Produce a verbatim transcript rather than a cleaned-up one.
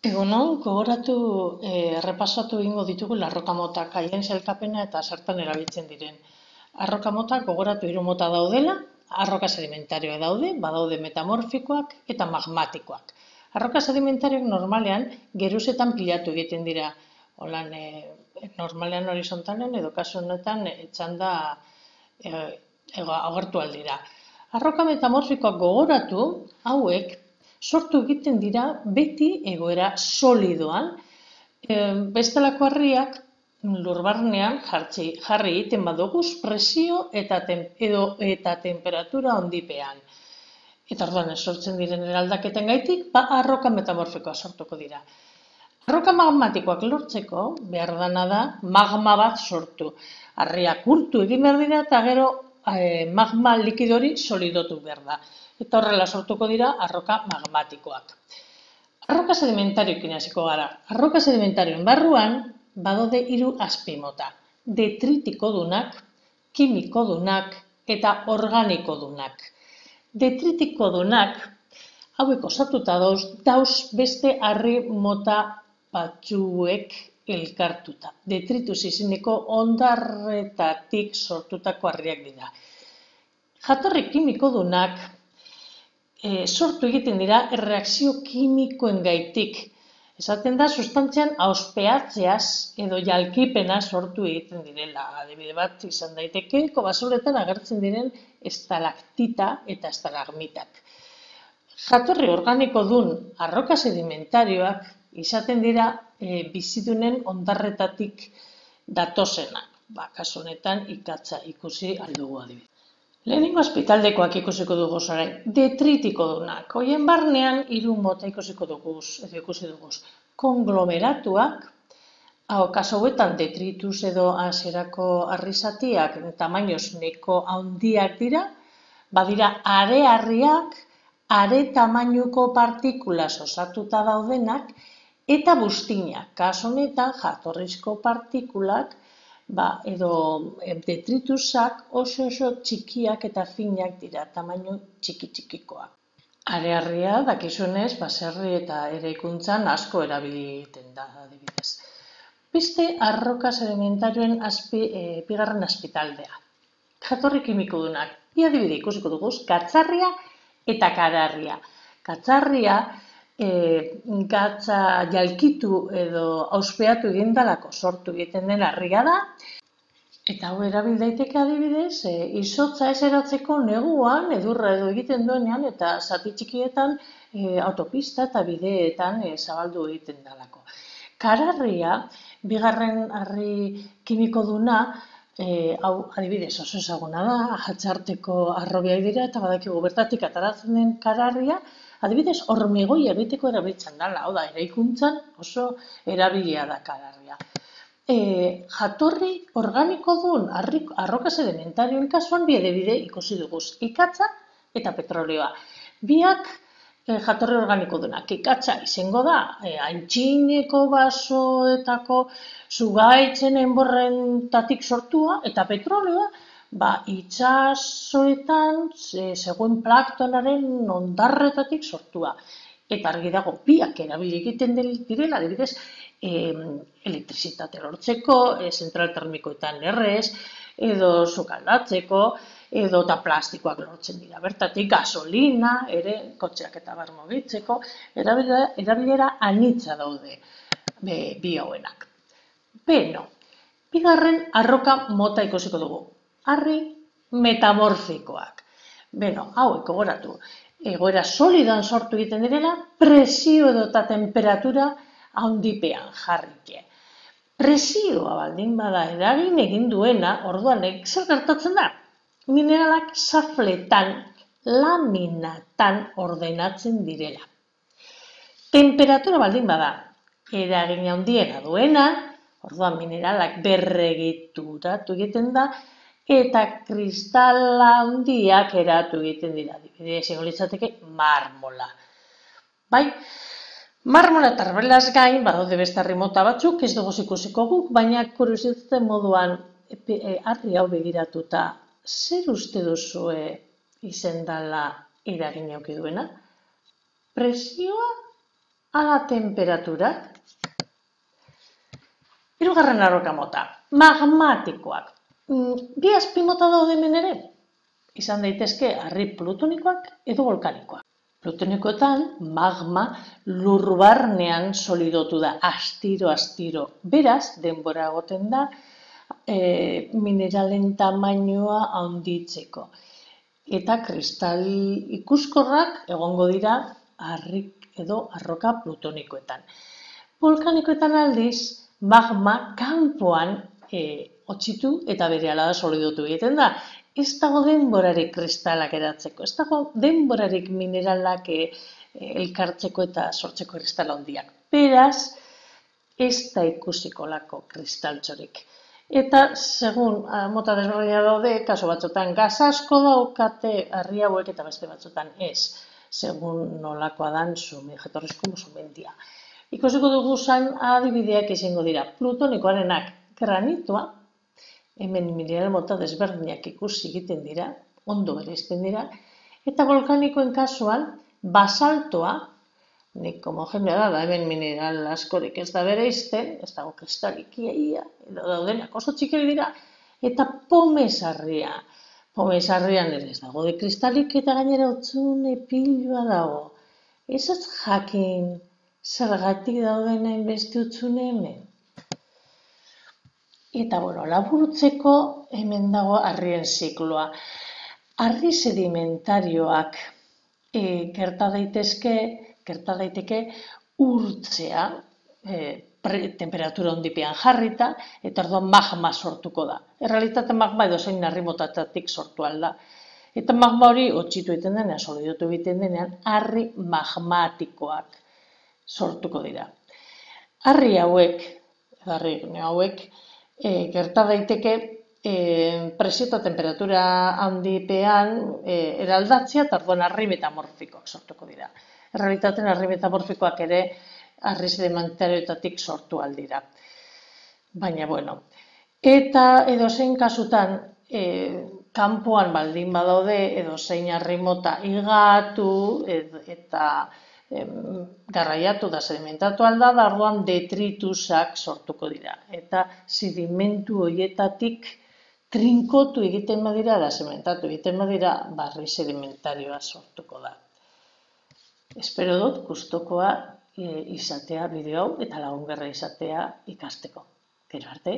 Egunon, gogoratu eh, errepasatu egingo ditugu arroka motak, haien sailkapena eta zertan erabiltzen diren. Arroka motak gogoratu hiru mota daudela, arroka sedimentarioak daude, badaude metamorfikoak eta magmatikoak. Arroka sedimentarioak normalean geruzetan pilatu egiten dira, holan, eh, normalean horizontalean edo kasu honetan eh, txanda eh, agertu aldira. Arroka metamorfikoak gogoratu, hauek sortu egiten dira beti egoera solidoan, e, bestelako harriak lurbarnean jartzi, jarri egiten badoguz presio eta, tem, edo, eta temperatura ondipean. Eta orduan sortzen diren eraldaketen gaitik, ba, arroka metamorfikoa sortuko dira. Arroka magmatikoak lortzeko behar dana da magma bat sortu. Harriak urtu egin behar dira eta gero eh, magma likidori solidotu behar da. Eta horrela sortuko dira arroka magmatikoak. Arroka sedimentarioekin hasiko gara. Arroka sedimentarioen barruan badaude hiru azpimota. Detritikodunak, kimikodunak eta organikodunak. Detritikodunak, hauek osatuta dauz, dauz beste harri mota batzuek elkartuta. Detritus izeneko ondarretatik sortutako harriak dira. Jatorri kimikodunak e, sortu egiten dira erreakzio kimikoen gaitik. Esaten da, sustantzian auspeatzeaz edo jalkipena sortu egiten direla. Adibide bat izan daiteke, kobasuretan agertzen diren estalaktita eta estalagmitak. Jatorri organiko dun arroka sedimentarioak izaten dira e, bizidunen ondarretatik datozenak. Ba, kasu honetan ikatza ikusi aldugu adibide. Lehenengo azpitaldekoak ikusiko dugu orain, detritikodunak. Hoien barnean hiru mota ikusiko dugu, edo ikusi dugu. Konglomeratuak, hau kasu hauetan detritus edo hasierako harrizatiak tamainoz neko handiak dira, badira are-harriak, are tamainuko partikulas osatuta daudenak, eta buztinak, kasu honetan jatorrizko partikulak, ba, edo detritusak oso oso txikiak eta finak dira, tamainu txiki-txikikoak. Are-harria, dakizunez, baserri eta eraikuntzan asko erabiliten da, adibidez. Beste arroka sedimentarioen azpi, e, bigarren azpitaldea. Jatorri kimikodunak, bi adibide ikusiko dugu, gatzarria eta kararria. Gatzarria, e, gatza jalkitu edo auspeatu egindalako sortu egiten den harria da, eta hau erabil daiteke adibidez, e, izotza ez eratzeko neguan, edurra edo egiten duenean, eta zati txikietan e, autopista eta bideetan e, zabaldu egiten dalako. Kararria, bigarren harri kimikoduna, e, hau adibidez oso ezaguna da, ahatzarteko arrobiak dira, eta badakigu bertatik ataratzen den kararria, adibidez hormigoi egiteko erabiltzen dela, hau da, eraikuntzan oso erabilia da kararria. E, jatorri organiko duen arroka sedimentarioen kasuan bi adibide ikusi dugu, ikatza eta petrolioa. Biak e, jatorri organiko duenak, ikatza izango da, e, antxineko basoetako zugaitzen enborrentatik sortua, eta petrolioa, ba, itxasoetan e, zegoen planktonaren ondarretatik sortua. Eta argi dago, biak erabili egiten direla, adibidez, e, elektrizitate lortzeko, e, zentral termikoetan errez, edo sukaldatzeko, edo eta plastikoak lortzen dira. Bertatik gasolina, ere, kotxeak eta bar mugitzeko, erabilera, erabilera anitza daude be, bi hauenak. Beno, bigarren arroka mota ikusiko dugu. Harri metamorfikoak. Beno, hauek gogoratu. Egoera solidoan sortu egiten direla, presio edo eta temperatura handipean jarrike. Presioa baldin bada eragin egin duena, orduan zer gertatzen da? Mineralak safletan, laminatan ordenatzen direla. Temperatura baldin bada eragin handiena duena, orduan mineralak berregituratu egiten da, eta kristala handiak eratu egiten dira. Adibidez, izango litzateke marmola. Bai? Marmola eta arbelaz gain, badaude beste harri mota batzuk, ez dugu ikusiko guk, baina kuriositate moduan harri hau begiratuta, zer uste duzue izen dela eragin eduki duena? Presioa ala temperaturak. Hirugarren arroka mota, magmatikoak. Bi azpimota daude hemen ere, izan daitezke harri plutonikoak edo volkanikoak. Plutonikoetan magma lur barnean solidotu da, astiro-astiro. Beraz, denbora egoten da e, mineralen tamainoa handitzeko. Eta kristal ikuskorrak egongo dira harrik edo arroka plutonikoetan. Volkanikoetan aldiz, magma kanpoan e, otxitu eta berehala da solidotu egiten da. Ez dago denborarik kristalak eratzeko, ez dago denborarik mineralak e, elkartzeko eta sortzeko kristal handiak. Beraz, ez da ikusiko lako kristaltxorik. Eta, segun mota desberdina daude, kaso batzutan gas asko daukate harri hauek eta beste batzutan ez, segun nolakoa dan zume, jatorrizko sumendia. Ikusiko dugu zan adibideak izango dira. Plutonikoarenak granitoa, hemen mineral mota desberdinak ikusi egiten dira, ondo bereizten dira, eta volkanikoen kasuan basaltoa, nik homogenea da, hemen mineral askorik ez da bereizten, ez dago kristalik iaia, edo daudenak oso txikiak dira, eta pomesarria. Pomesarrian ere ez dago de kristalik eta gainera otzune piloa dago. Ez ez jakin zergatik dauden hainbeste otzune hemen. Eta, bueno, laburtzeko hemen dago harrien zikloa. Harri sedimentarioak e, gerta daitezke, gerta daiteke urtzea, e, temperatura hondipean jarrita, eta orduan magma sortuko da. Errealitate magma edo zein harri motatatik sortu alda. Eta magma hori otxitu egiten denean, solidotu egiten denean, harri magmatikoak sortuko dira. Harri hauek, harri hauek, E, gerta daiteke e, presio eta temperatura handipean e, eraldatzea eta orduan harri metamorfikoak sortuko dira. Errealitaten harri metamorfikoak ere harri sedimentarioetatik sortu aldira. Baina, bueno, eta edozein kasutan e, kanpoan baldin badaude edozein harri mota higatu ed, eta garraiatu da sedimentatu alda, da orduan detritusak sortuko dira. Eta sedimentu horietatik trinkotu egiten badira, da sedimentatu egiten badira, barri sedimentarioa sortuko da. Espero dut gustukoa izatea bideo hau eta lagungarria izatea ikasteko. Gero arte.